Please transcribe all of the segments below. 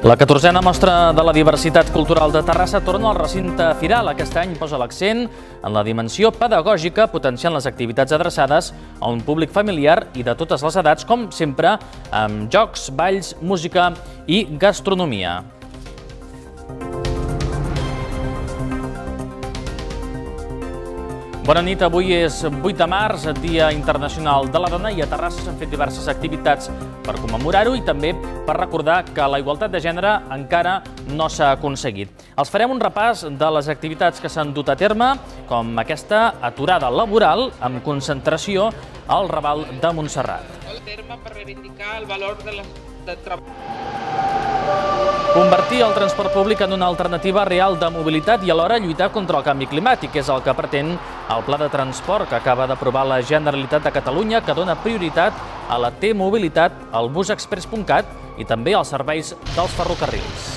La 14a Mostra de la Diversitat Cultural de Terrassa torna al recinte firal. Aquest any posa l'accent en la dimensió pedagògica, potenciant les activitats adreçades a un públic familiar i de totes les edats, com sempre, amb jocs, balls, música i gastronomia. Bona nit, avui és 8 de març, Dia Internacional de la Dona, i a Terrassa s'han fet diverses activitats per commemorar-ho i també per recordar que la igualtat de gènere encara no s'ha aconseguit. Els farem un repàs de les activitats que s'han dut a terme, com aquesta aturada laboral amb concentració al Raval de Montserrat. El terme per reivindicar el valor del treball. Convertir el transport públic en una alternativa real de mobilitat i alhora lluitar contra el canvi climàtic és el que pretén el Pla de Transport que acaba d'aprovar la Generalitat de Catalunya, que dona prioritat a la T-mobilitat, al busexpress.cat i també als serveis dels ferrocarrils.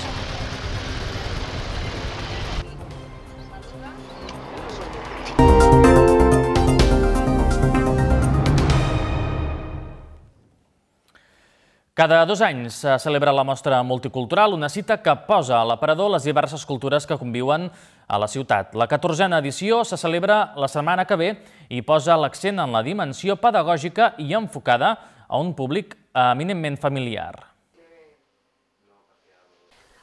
Cada 2 anys se celebra la Mostra Multicultural, una cita que posa a l'aparador les diverses cultures que conviuen a la ciutat. La 14a edició se celebra la setmana que ve i posa l'accent en la dimensió pedagògica i enfocada a un públic eminentment familiar.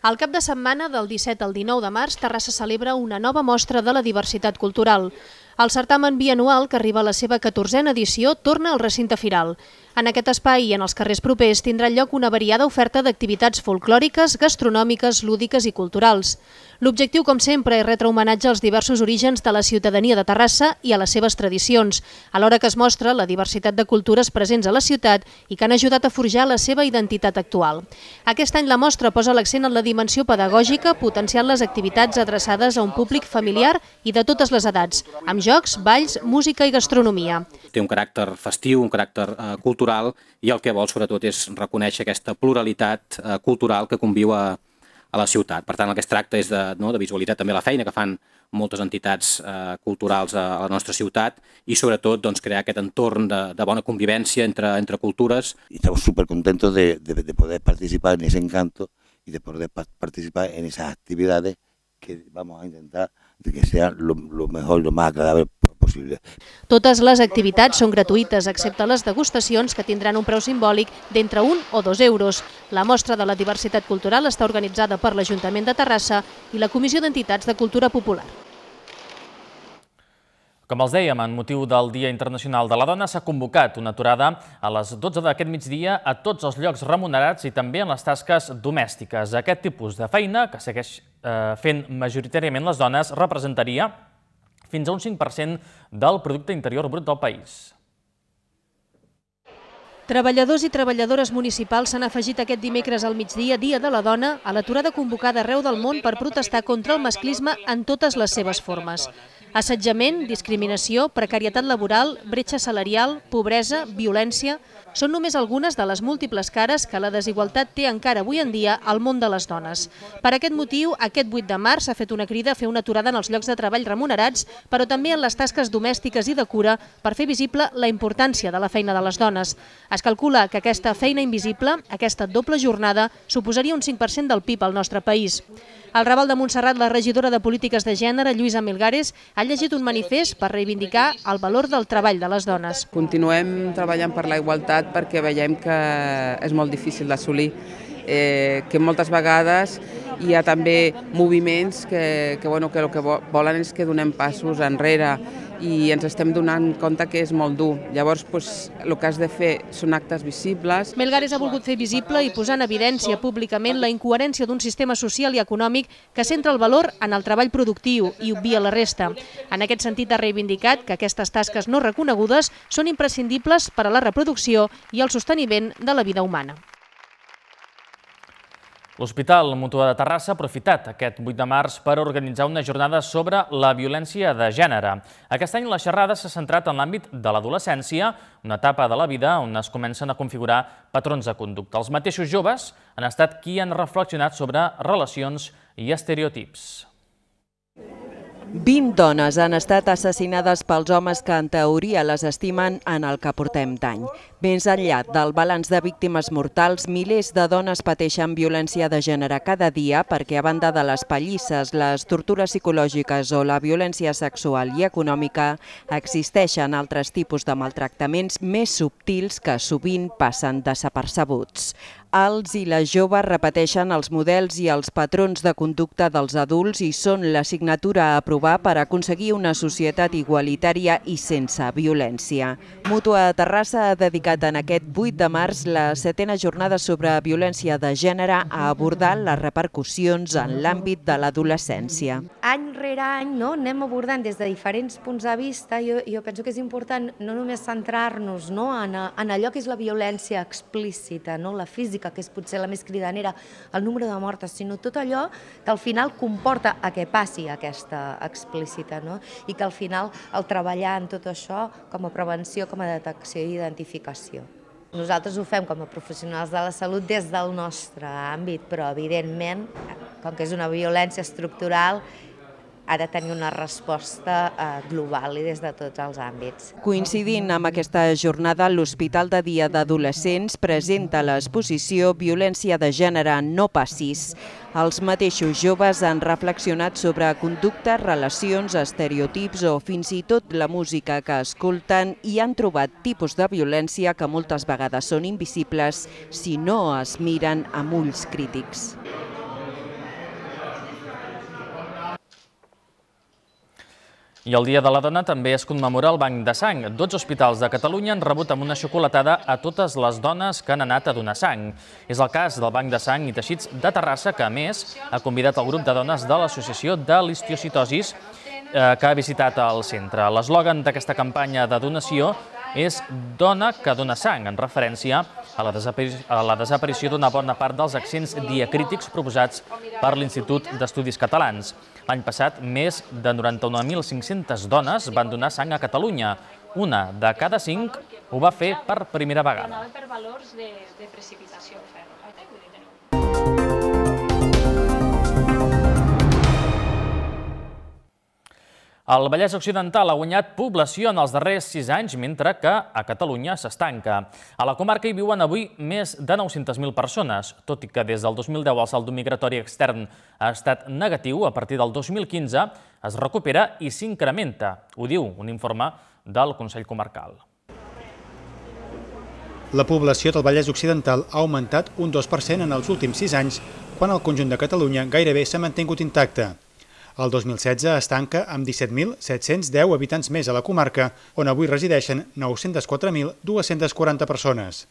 Al cap de setmana, del 17 al 19 de març, Terrassa celebra una nova mostra de la diversitat cultural. El certamen bianual, que arriba a la seva 14a edició, torna al recinte firal. En aquest espai i en els carrers propers tindrà lloc una variada oferta d'activitats folclòriques, gastronòmiques, lúdiques i culturals. L'objectiu, com sempre, és retre homenatge als diversos orígens de la ciutadania de Terrassa i a les seves tradicions, alhora que es mostra la diversitat de cultures presents a la ciutat i que han ajudat a forjar la seva identitat actual. Aquest any la mostra posa l'accent en la dimensió pedagògica, potenciant les activitats adreçades a un públic familiar i de totes les edats, amb jocs, balls, música i gastronomia. Té un caràcter festiu, un caràcter cultural, i el que vol sobretot és reconèixer aquesta pluralitat cultural que conviu a la ciutat. Per tant, el que es tracta és de visualitzar també la feina que fan moltes entitats culturals a la nostra ciutat i sobretot crear aquest entorn de bona convivència entre cultures. Estamos súper contentos de poder participar en ese encanto y de poder participar en esas actividades que vamos a intentar de que sean lo mejor, lo más agradable possible. Totes les activitats són gratuïtes, excepte les degustacions, que tindran un preu simbòlic d'entre 1 o 2 euros. La Mostra de la Diversitat Cultural està organitzada per l'Ajuntament de Terrassa i la Comissió d'Entitats de Cultura Popular. Com els dèiem, en motiu del Dia Internacional de la Dona, s'ha convocat una aturada a les 12 d'aquest migdia a tots els llocs remunerats i també en les tasques domèstiques. Aquest tipus de feina, que segueix fent majoritàriament les dones, representaria fins a un 5% del producte interior brut del país. Treballadors i treballadores municipals s'han afegit aquest dimecres al migdia, Dia de la Dona, a l'aturada convocada arreu del món per protestar contra el masclisme en totes les seves formes. Assetjament, discriminació, precarietat laboral, bretxa salarial, pobresa, violència... Són només algunes de les múltiples cares que la desigualtat té encara avui en dia al món de les dones. Per aquest motiu, aquest 8 de març s'ha fet una crida a fer una aturada en els llocs de treball remunerats, però també en les tasques domèstiques i de cura per fer visible la importància de la feina de les dones. Es calcula que aquesta feina invisible, aquesta doble jornada, suposaria un 5% del PIB al nostre país. Al Raval de Montserrat, la regidora de Polítiques de Gènere, Lluïsa Milgares, ha llegit un manifest per reivindicar el valor del treball de les dones. Continuem treballant per la igualtat perquè veiem que és molt difícil d'assolir, que moltes vegades hi ha també moviments que el que volen és que donem passos enrere i ens estem donant compte que és molt dur. Llavors, el que has de fer són actes visibles. Milgares ha volgut fer visible i posar en evidència públicament la incoherència d'un sistema social i econòmic que centra el valor en el treball productiu i obvia la resta. En aquest sentit, ha reivindicat que aquestes tasques no reconegudes són imprescindibles per a la reproducció i el sosteniment de la vida humana. L'Hospital Mutuà de Terrassa ha aprofitat aquest 8 de març per organitzar una jornada sobre la violència de gènere. Aquest any la xerrada s'ha centrat en l'àmbit de l'adolescència, una etapa de la vida on es comencen a configurar patrons de conducta. Els mateixos joves han estat qui han reflexionat sobre relacions i estereotips. 20 dones han estat assassinades pels homes que en teoria les estimen en el que portem d'any. Més enllà del balanç de víctimes mortals, milers de dones pateixen violència de gènere cada dia perquè, a banda de les pallisses, les tortures psicològiques o la violència sexual i econòmica, existeixen altres tipus de maltractaments més subtils que sovint passen desapercebuts. Els i les joves repeteixen els models i els patrons de conducta dels adults i són l'assignatura a aprovar per aconseguir una societat igualitària i sense violència. Mútua Terrassa ha dedicat en aquest 8 de març la 7a jornada sobre violència de gènere a abordar les repercussions en l'àmbit de l'adolescència. Any rere any anem abordant des de diferents punts de vista. Jo penso que és important no només centrar-nos en allò que és la violència explícita, la física, que és potser la més cridanera, el número de mortes, sinó tot allò que al final comporta a que passi aquesta explícita, i que al final el treballar en tot això com a prevenció, com a detecció i identificació. Nosaltres ho fem com a professionals de la salut des del nostre àmbit, però evidentment, com que és una violència estructural, ha de tenir una resposta global i des de tots els àmbits. Coincidint amb aquesta jornada, l'Hospital de Dia d'Adolescents presenta l'exposició Violència de gènere no passis. Els mateixos joves han reflexionat sobre conductes, relacions, estereotips o fins i tot la música que escolten i han trobat tipus de violència que moltes vegades són invisibles si no es miren amb ulls crítics. I el Dia de la Dona també es commemora el Banc de Sang. 12 hospitals de Catalunya han rebut amb una xocolatada a totes les dones que han anat a donar sang. És el cas del Banc de Sang i Teixits de Terrassa, que a més ha convidat el grup de dones de l'Associació de l'Histiocytosis que ha visitat el centre. L'eslògan d'aquesta campanya de donació és Dona que dona sang, en referència a la desaparició d'una bona part dels accents diacrítics proposats per l'Institut d'Estudis Catalans. L'any passat, més de 91.500 dones van donar sang a Catalunya. Una de cada 5 ho va fer per primera vegada. Per valors de precipitació. El Vallès Occidental ha guanyat població en els darrers 6 anys, mentre que a Catalunya s'estanca. A la comarca hi viuen avui més de 900.000 persones, tot i que des del 2010 el saldo migratori extern ha estat negatiu, a partir del 2015 es recupera i s'incrementa. Ho diu un informe del Consell Comarcal. La població del Vallès Occidental ha augmentat un 2% en els últims 6 anys, quan el conjunt de Catalunya gairebé s'ha mantingut intacte. El 2016 es tanca amb 17.710 habitants més a la comarca, on avui resideixen 904.240 persones.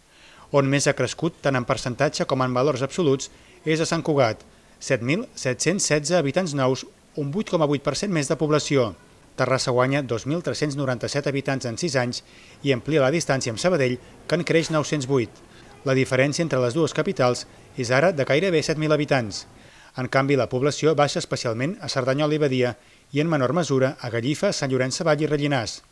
On més ha crescut, tant en percentatge com en valors absoluts, és a Sant Cugat, 7.716 habitants nous, un 8,8% més de població. Terrassa guanya 2.397 habitants en 6 anys i amplia la distància amb Sabadell, que en creix 908. La diferència entre les dues capitals és ara de gairebé 7.000 habitants. En canvi, la població baixa especialment a Cerdanyola i Badia i, en menor mesura, a Gallifa, Sant Llorenç Savall i Rellinars.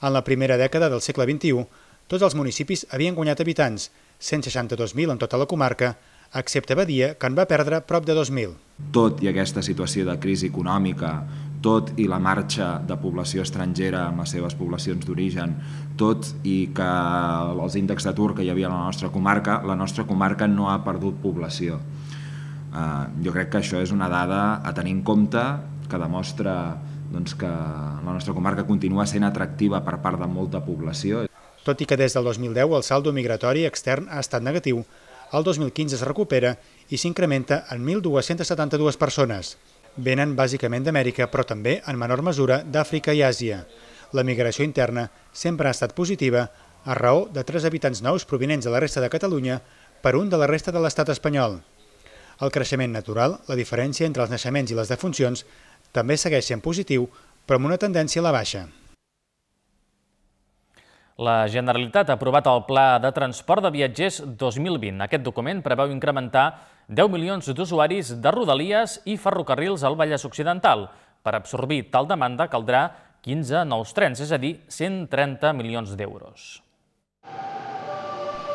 En la primera dècada del segle XXI, tots els municipis havien guanyat habitants, 162.000 en tota la comarca, excepte Badia, que en va perdre prop de 2.000. Tot i aquesta situació de crisi econòmica, tot i la marxa de població estrangera amb les seves poblacions d'origen, tot i que els índexs d'atur que hi havia a la nostra comarca no ha perdut població. Jo crec que això és una dada a tenir en compte, que demostra que la nostra comarca continua sent atractiva per part de molta població. Tot i que des del 2010 el saldo migratori extern ha estat negatiu, el 2015 es recupera i s'incrementa en 1.272 persones. Venen bàsicament d'Amèrica, però també, en menor mesura, d'Àfrica i Àsia. La migració interna sempre ha estat positiva, a raó de 3 habitants nous provinents de la resta de Catalunya per un de la resta de l'estat espanyol. El creixement natural, la diferència entre els naixements i les defuncions, també segueix sent positiu, però amb una tendència a la baixa. La Generalitat ha aprovat el Pla de Transport de Viatgers 2020. Aquest document preveu incrementar 10 milions d'usuaris de Rodalies i ferrocarrils al Vallès Occidental. Per absorbir tal demanda caldrà 15 nous trens, és a dir, 130 milions d'euros.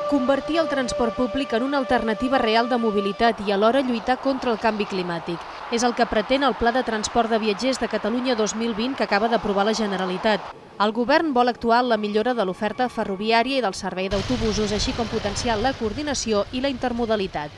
Convertir el transport públic en una alternativa real de mobilitat i alhora lluitar contra el canvi climàtic. És el que pretén el Pla de Transport de Viatgers de Catalunya 2020 que acaba d'aprovar la Generalitat. El govern vol actuar en la millora de l'oferta ferroviària i del servei d'autobusos, així com potenciar la coordinació i la intermodalitat.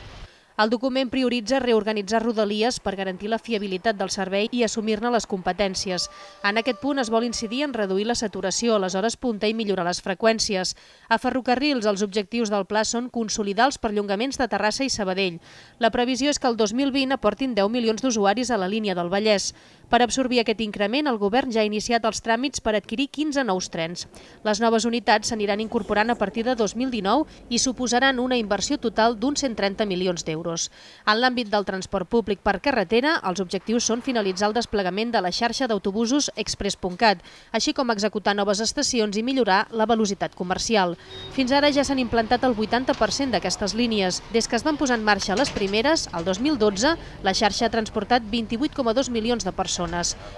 El document prioritza reorganitzar Rodalies per garantir la fiabilitat del servei i assumir-ne les competències. En aquest punt es vol incidir en reduir la saturació a les hores punta i millorar les freqüències. A Ferrocarrils, els objectius del pla són consolidar els perllongaments de Terrassa i Sabadell. La previsió és que el 2020 aportin 10 milions d'usuaris a la línia del Vallès. Per absorbir aquest increment, el govern ja ha iniciat els tràmits per adquirir 15 nous trens. Les noves unitats s'aniran incorporant a partir de 2019 i suposaran una inversió total d'uns 130 milions d'euros. En l'àmbit del transport públic per carretera, els objectius són finalitzar el desplegament de la xarxa d'autobusos Express.cat, així com executar noves estacions i millorar la velocitat comercial. Fins ara ja s'han implantat el 80% d'aquestes línies. Des que es van posar en marxa les primeres, el 2012, la xarxa ha transportat 28,2 milions de persones.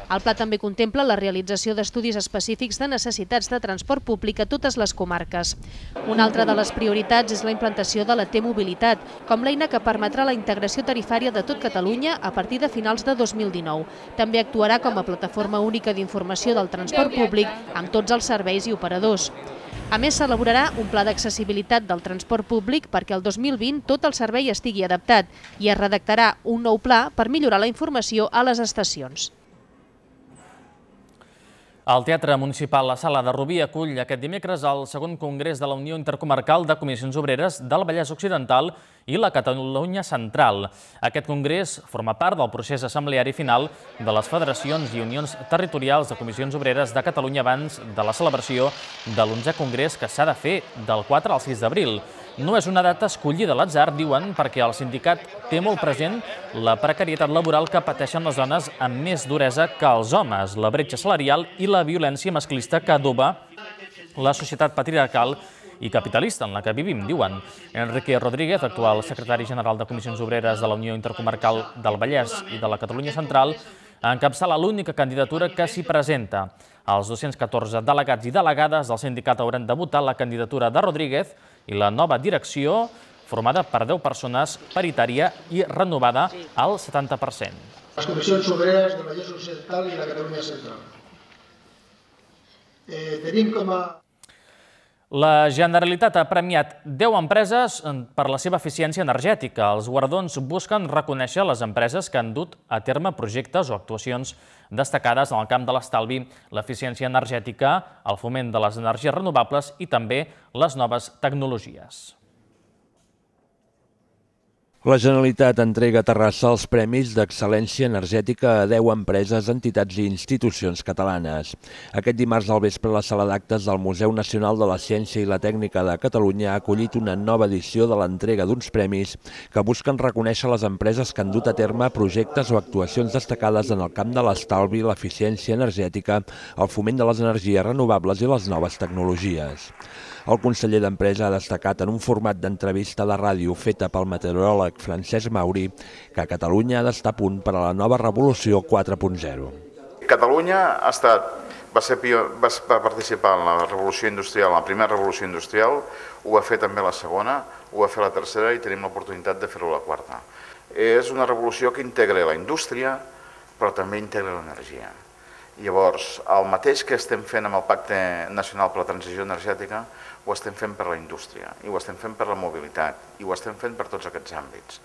El pla també contempla la realització d'estudis específics de necessitats de transport públic a totes les comarques. Una altra de les prioritats és la implantació de la T-mobilitat, com l'eina que permetrà la integració tarifària de tot Catalunya a partir de finals de 2019. També actuarà com a plataforma única d'informació del transport públic amb tots els serveis i operadors. A més, s'elaborarà un pla d'accessibilitat del transport públic perquè el 2020 tot el servei estigui adaptat i es redactarà un nou pla per millorar la informació a les estacions. El Teatre Municipal La Sala de Rubí acull aquest dimecres el segon congrés de la Unió Intercomarcal de Comissions Obreres del Vallès Occidental i la Catalunya Central. Aquest congrés forma part del procés assembleari final de les federacions i unions territorials de Comissions Obreres de Catalunya abans de la celebració de l'11è congrés que s'ha de fer del 4 al 6 d'abril. No és una data escollida a l'atzar, diuen, perquè el sindicat té molt present la precarietat laboral que pateixen les dones amb més duresa que els homes, la bretxa salarial i la violència masclista que adoba la societat patriarcal i capitalista en la que vivim, diuen. Enrique Rodríguez, actual secretari general de Comissions Obreres de la Unió Intercomarcal del Vallès i de la Catalunya Central, encapçala l'única candidatura que s'hi presenta. Els 214 delegats i delegades del sindicat hauran de votar la candidatura de Rodríguez i la nova direcció, formada per 10 persones, paritària i renovada al 70%. Les Comissions Obreres del Vallès Occidental i la Catalunya Central. Tenim com a... La Generalitat ha premiat 10 empreses per la seva eficiència energètica. Els guardons busquen reconèixer les empreses que han dut a terme projectes o actuacions destacades en el camp de l'estalvi, l'eficiència energètica, el foment de les energies renovables i també les noves tecnologies. La Generalitat entrega a Terrassa els Premis d'Excel·lència Energètica a 10 empreses, entitats i institucions catalanes. Aquest dimarts al vespre, la sala d'actes del Museu Nacional de la Ciència i la Tècnica de Catalunya ha acollit una nova edició de l'entrega d'uns premis que busquen reconèixer les empreses que han dut a terme projectes o actuacions destacades en el camp de l'estalvi, l'eficiència energètica, el foment de les energies renovables i les noves tecnologies. El conseller d'Empresa ha destacat en un format d'entrevista de ràdio feta pel meteoròleg Francesc Mauri que Catalunya ha d'estar a punt per a la nova revolució 4.0. Catalunya va participar en la revolució industrial, en la primera revolució industrial, ho va fer també la segona, ho va fer la tercera i tenim l'oportunitat de fer-ho la quarta. És una revolució que integra la indústria, però també integra l'energia. Llavors, el mateix que estem fent amb el Pacte Nacional per la Transició Energètica, ho estem fent per la indústria, i ho estem fent per la mobilitat, i ho estem fent per tots aquests àmbits.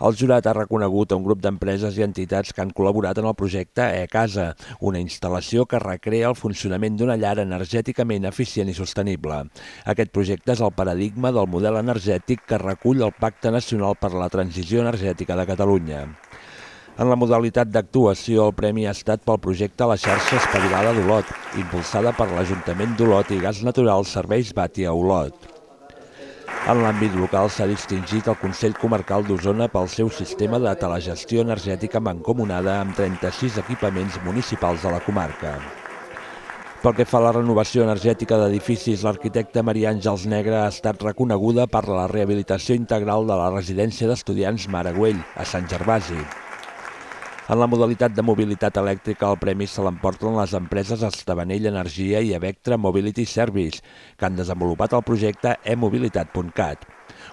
El jurat ha reconegut a un grup d'empreses i entitats que han col·laborat en el projecte E-Casa, una instal·lació que recrea el funcionament d'una llar energèticament eficient i sostenible. Aquest projecte és el paradigma del model energètic que recull el Pacte Nacional per la Transició Energètica de Catalunya. En la modalitat d'actuació, el premi ha estat pel projecte La xarxa espavilada d'Olot, impulsada per l'Ajuntament d'Olot i Gas Natural Serveis Bàtia Olot. En l'àmbit local s'ha distingit el Consell Comarcal d'Osona pel seu sistema de telegestió energètica mancomunada amb 36 equipaments municipals de la comarca. Pel que fa a la renovació energètica d'edificis, l'arquitecte Maria Àngels Negre ha estat reconeguda per la rehabilitació integral de la residència d'estudiants Mare Güell, a Sant Gervasi. En la modalitat de mobilitat elèctrica, el premi se l'emporten les empreses Estavanell Energia i Evectra Mobility Service, que han desenvolupat el projecte e-mobilitat.cat.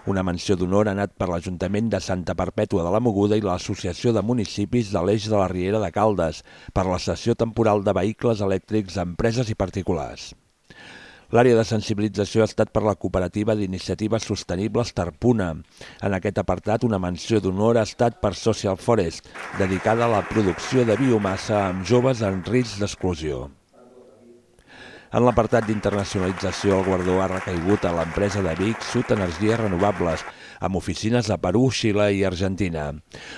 Una menció d'honor ha anat per l'Ajuntament de Santa Perpètua de la Mogoda i l'Associació de Municipis de l'Eix de la Riera de Caldes per la cessió temporal de vehicles elèctrics a empreses i particulars. L'àrea de sensibilització ha estat per la cooperativa d'iniciatives sostenibles Tarpuna. En aquest apartat, una menció d'honor ha estat per Social Forest, dedicada a la producció de biomassa amb joves en risc d'exclusió. En l'apartat d'internacionalització, el guardó ha recaigut a l'empresa de Vic Sud Energies Renovables, amb oficines a Perú, Xile i Argentina.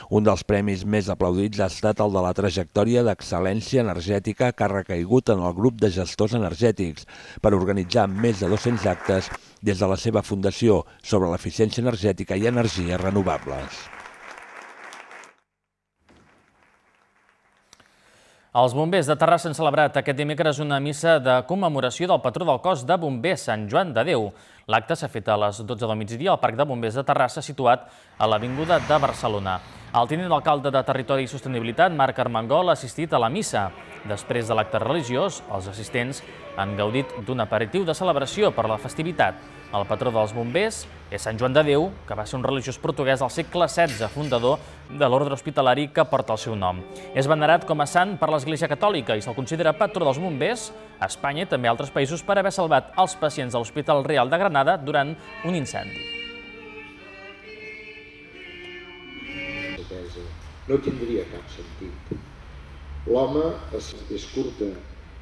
Un dels premis més aplaudits ha estat el de la trajectòria d'excel·lència energètica que ha recaigut en el grup de gestors energètics per organitzar més de 200 actes des de la seva fundació sobre l'eficiència energètica i energies renovables. Els bombers de Terrassa han celebrat aquest dimecres una missa de commemoració del patró del cos de bombers, Sant Joan de Déu. L'acte s'ha fet a les 12 del migdia al Parc de Bombers de Terrassa, situat a l'Avinguda de Barcelona. El tinent d'alcalde de Territori i Sostenibilitat, Marc Armengol, ha assistit a la missa. Després de l'acte religiós, els assistents han gaudit d'un aperitiu de celebració per la festivitat. El patró dels bombers és Sant Joan de Déu, que va ser un religiós portuguès del segle XVI, fundador de l'ordre hospitalari que porta el seu nom. És venerat com a sant per l'Església Catòlica i se'l considera patró dels bombers a Espanya i també a altres països per haver salvat els pacients de l'Hospital Real de Granada durant un incendi. No tindria cap sentit. L'home és curta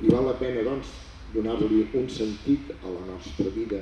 i val la pena, doncs, donar-li un sentit a la nostra vida.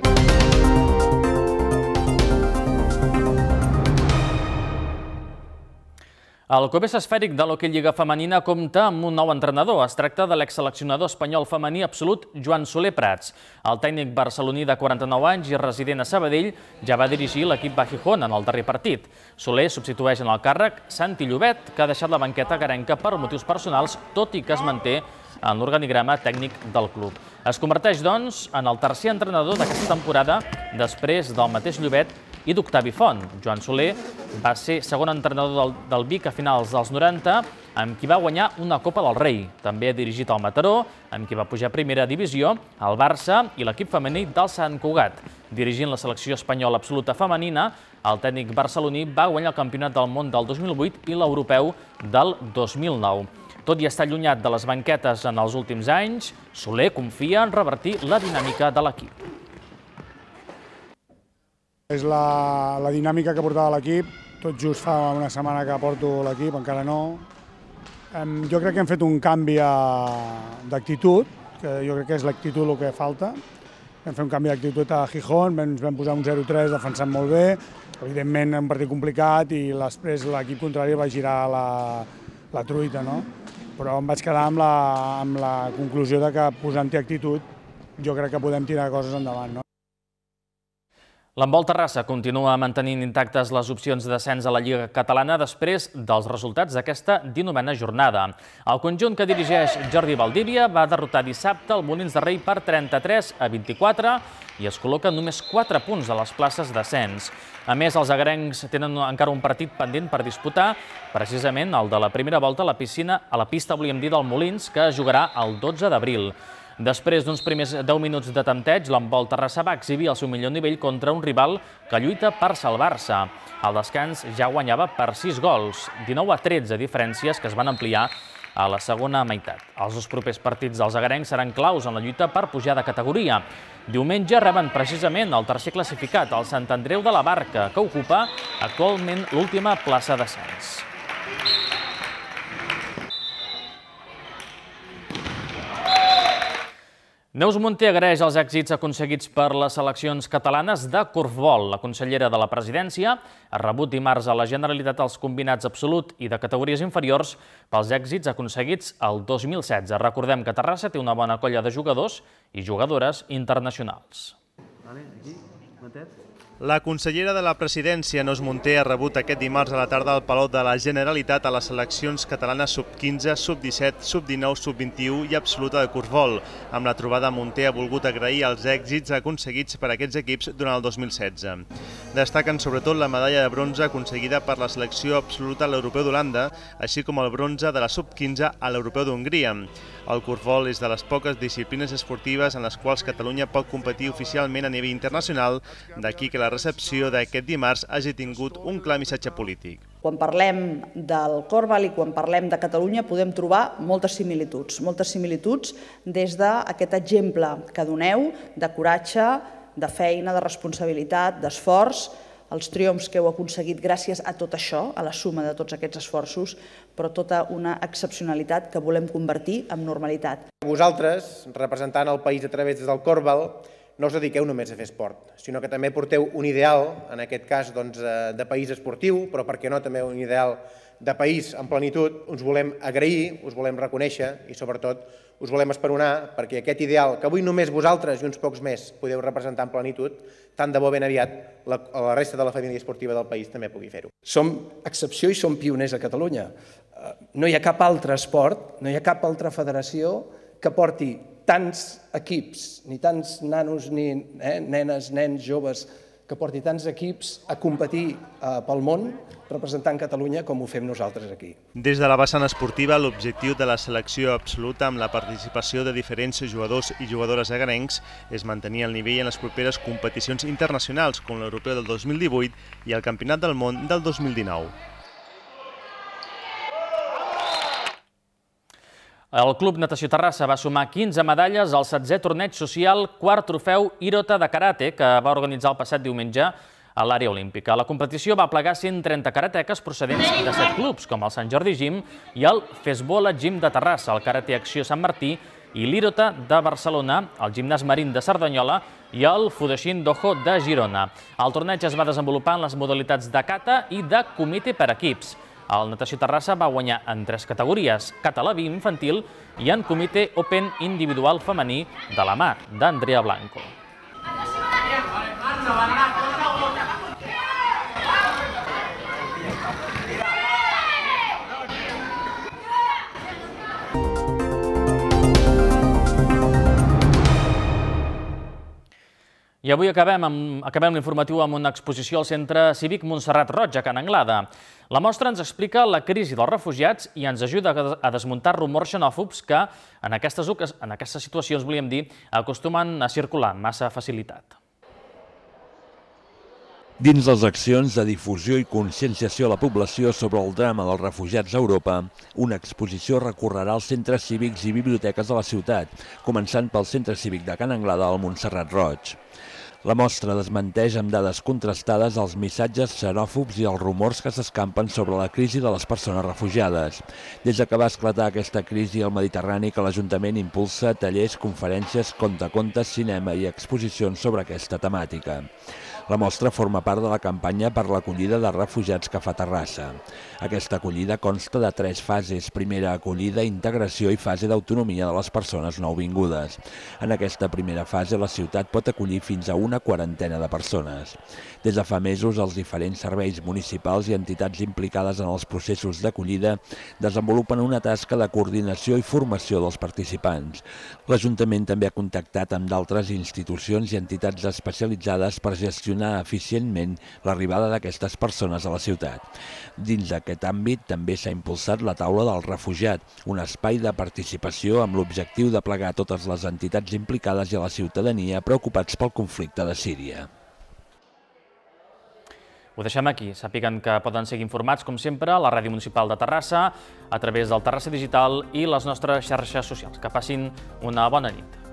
El Cobés Esfèric de l'Hoquei Lliga Femenina compta amb un nou entrenador. Es tracta de l'exseleccionador espanyol femení absolut Joan Soler Prats. El tècnic barceloní de 49 anys i resident a Sabadell ja va dirigir l'equip Gijón en el darrer partit. Soler substitueix en el càrrec Santi Llobet, que ha deixat la banqueta garenca per motius personals, tot i que es manté en l'organigrama tècnic del club. Es converteix, doncs, en el tercer entrenador d'aquesta temporada després del mateix Llobet i d'Octavi Font. Joan Soler va ser segon entrenador del Vic a finals dels 90, amb qui va guanyar una Copa del Rei. També ha dirigit el Mataró, amb qui va pujar a primera divisió, el Barça i l'equip femení del Sant Cugat. Dirigint la selecció espanyola absoluta femenina, el tècnic barceloní va guanyar el Campionat del Món del 2008 i l'Europeu del 2009. Tot i estar allunyat de les banquetes en els últims anys, Soler confia en revertir la dinàmica de l'equip. És la dinàmica que portava l'equip. Tot just fa una setmana que porto l'equip, encara no. Jo crec que hem fet un canvi d'actitud, que jo crec que és l'actitud el que falta. Vam fer un canvi d'actitud a Gijón, ens vam posar un 0-3 defensant molt bé. Evidentment, un partit complicat i després l'equip contrari va girar la truita, no? Però em vaig quedar amb la conclusió de que posant-hi actitud jo crec que podem tirar coses endavant, no? L'handbol Terrassa continua mantenint intactes les opcions de descens a la Lliga Catalana després dels resultats d'aquesta 19a jornada. El conjunt que dirigeix Jordi Valdívia va derrotar dissabte el Molins de Rei per 33-24 i es col·loca només 4 punts a les places d'ascens. A més, els agarencs tenen encara un partit pendent per disputar, precisament el de la primera volta a la pista, volíem dir, del Molins, que es jugarà el 12 d'abril. Després d'uns primers 10 minuts de tempteig, l'handbol Terrassa va exhibir el seu millor nivell contra un rival que lluita per salvar-se. Al descans ja guanyava per 6 gols, 19-13 diferències que es van ampliar a la segona meitat. Els dos propers partits dels agarencs seran claus en la lluita per pujar de categoria. Diumenge reben precisament el tercer classificat, el Sant Andreu de la Barca, que ocupa actualment l'última plaça d'ascens. Neus Munté agraeix els èxits aconseguits per les seleccions catalanes de corfbol. La consellera de la Presidència ha rebut dimarts a la Generalitat els combinats absolut i de categories inferiors pels èxits aconseguits el 2016. Recordem que Terrassa té una bona colla de jugadors i jugadores internacionals. La consellera de la Presidència, Neus Munté, ha rebut aquest dimarts a la tarda al Palau de la Generalitat a les seleccions catalanes sub-15, sub-17, sub-19, sub-21 i absoluta de corfbol. Amb la trobada, Munté ha volgut agrair els èxits aconseguits per aquests equips durant el 2016. Destaquen sobretot la medalla de bronze aconseguida per la selecció absoluta a l'Europeu d'Holanda, així com el bronze de la sub-15 a l'Europeu d'Hongria. El corfbol és de les poques disciplines esportives en les quals Catalunya pot competir oficialment a nivell internacional, d'aquí que la recepció d'aquest dimarts hagi tingut un clar missatge polític. Quan parlem del corfball i quan parlem de Catalunya podem trobar moltes similituds des d'aquest exemple que doneu de coratge, de feina, de responsabilitat, d'esforç, els triomfs que heu aconseguit gràcies a tot això, a la suma de tots aquests esforços, però tota una excepcionalitat que volem convertir en normalitat. Vosaltres, representant el país a través del corfball, no us dediqueu només a fer esport, sinó que també porteu un ideal, en aquest cas de país esportiu, però per què no també un ideal de país en plenitud. Us volem agrair, us volem reconèixer i sobretot us volem esperonar perquè aquest ideal que avui només vosaltres i uns pocs més podeu representar en plenitud, tant de bo ben aviat la resta de la família esportiva del país també pugui fer-ho. Som excepció i som pioners a Catalunya. No hi ha cap altre esport, no hi ha cap altra federació que porti tants equips, ni tants nanos, ni nenes, nens, joves, que porti tants equips a competir pel món representant Catalunya com ho fem nosaltres aquí. Des de la vessant esportiva, l'objectiu de la selecció absoluta amb la participació de diferents jugadors i jugadores agarencs és mantenir el nivell en les properes competicions internacionals com l'Europeu del 2018 i el Campionat del Món del 2019. El Club Natació Terrassa va sumar 15 medalles al 16è torneig social quart trofeu Irota de Karate que va organitzar el passat diumenge a l'àrea olímpica. La competició va plegar 130 karateques procedents de 7 clubs, com el Sant Jordi Gym i el Fesbola Gym de Terrassa, el Karate Acció Sant Martí i l'Irota de Barcelona, el Gimnàs Marín de Cerdanyola i el Fudoshin Dojo de Girona. El torneig es va desenvolupar en les modalitats de kata i de comitè per equips. El Natació Terrassa va guanyar en 3 categories, kata Leví infantil i en comitè Open individual femení de la mà d'Andrea Blanco. I avui acabem l'informatiu amb una exposició al Centre Cívic Montserrat Roig, a Can Anglada. La mostra ens explica la crisi dels refugiats i ens ajuda a desmuntar rumors xenòfobs que, en aquestes situacions, volíem dir, acostumen a circular amb massa facilitat. Dins les accions de difusió i conscienciació a la població sobre el drama dels refugiats a Europa, una exposició recorrerà als centres cívics i biblioteques de la ciutat, començant pel Centre Cívic de Can Anglada al Montserrat Roig. La mostra desmenteix amb dades contrastades els missatges xenòfobs i els rumors que s'escampen sobre la crisi de les persones refugiades. Des que va esclatar aquesta crisi al Mediterrani, que l'Ajuntament impulsa tallers, conferències, contacontes, cinema i exposicions sobre aquesta temàtica. La mostra forma part de la campanya per l'acollida de refugiats que fa Terrassa. Aquesta acollida consta de 3 fases: primera acollida, integració i fase d'autonomia de les persones nouvingudes. En aquesta primera fase, la ciutat pot acollir fins a una quarantena de persones. Des de fa mesos, els diferents serveis municipals i entitats implicades en els processos d'acollida desenvolupen una tasca de coordinació i formació dels participants. L'Ajuntament també ha contactat amb d'altres institucions i entitats especialitzades per gestionar eficientment l'arribada d'aquestes persones a la ciutat. Dins d'aquest àmbit també s'ha impulsat la Taula del Refugiat, un espai de participació amb l'objectiu de plegar totes les entitats implicades i a la ciutadania preocupats pel conflicte de Síria. Ho deixem aquí. Sàpiguen que poden seguir informats, com sempre, a la Ràdio Municipal de Terrassa, a través del Terrassa Digital i les nostres xarxes socials. Que passin una bona nit.